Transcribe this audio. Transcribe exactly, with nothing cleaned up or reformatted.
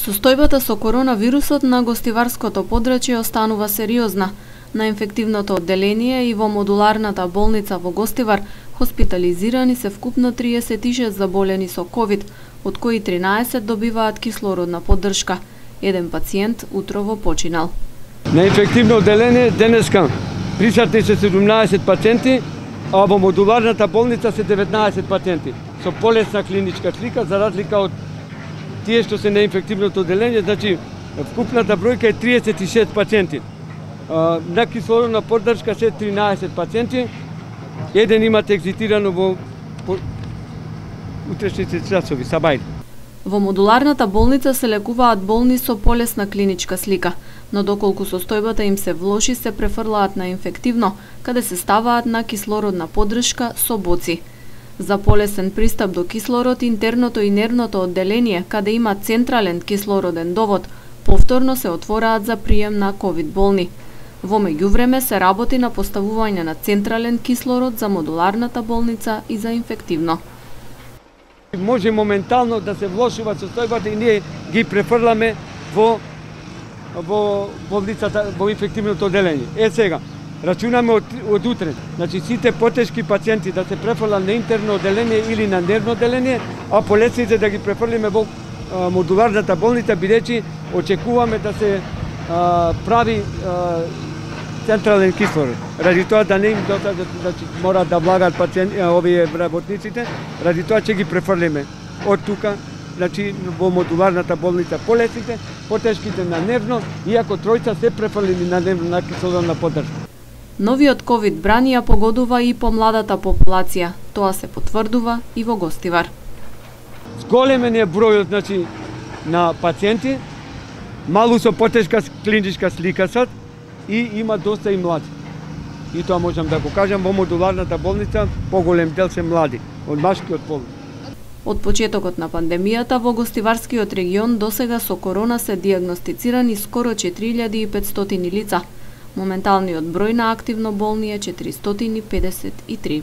Состојбата со коронавирусот на гостиварското подрачје останува сериозна. На инфективното одделение и во модуларната болница во Гостивар хоспитализирани се вкупно триесет и шест заболени со ковид, од кои тринаесет добиваат кислородна поддршка. Еден пациент утрово починал. На инфективно одделение денеска присутни се седумнаесет пациенти, а во модуларната болница се деветнаесет пациенти со полесна клиничка слика, за разлика од тие што се на инфективното одделение, значи вкупната бројка е триесет и шест пациенти. На кислородна поддршка се тринаесет пациенти, еден имат екзитирано во утрешните часови, сабајли. Во модуларната болница се лекуваат болни со полесна клиничка слика, но доколку состојбата им се влоши, се префрлаат на инфективно, каде се ставаат на кислородна поддршка со боци. За полесен пристап до кислород, интерното и нервното одделение, каде има централен кислороден довод, повторно се отвораат за прием на ковид болни. Во меѓувреме се работи на поставување на централен кислород за модуларната болница и за инфективно. Може моментално да се влошува состојбата и ние ги префрламе во во болницата, во инфективното одделение. Е сега, рачунаме од, од утре, значи сите потешки пациенти да се префрлат на интерно одделение или на нервно одделение, а полесните да ги префрлиме во а, модуларната болница, бидејќи очекуваме да се а, прави а, централен кислород. Ради тоа да не им досаѓа, значи мораат да влагаат пациенти, овие работниците, ради тоа ќе ги префрлиме од тука, значи во модуларната болница полесните, потешките на нервно, иако тројца се префрлени на нервно на кислородна поддршка. Новиот ковид брани ја погодува и помладата популација. Тоа се потврдува и во Гостивар. Зголемен е бројот, значи, на пациенти, малку со потешка клиничка слика сад, и има доста и млади. И тоа можам да го кажам, во модуларната болница поголем дел се млади, од машкиот пол. Од почетокот на пандемијата во Гостиварскиот регион досега со корона се дијагностицирани скоро четири илјади и петстотини лица. Моменталниот број на активно болни е четиристотини педесет и три.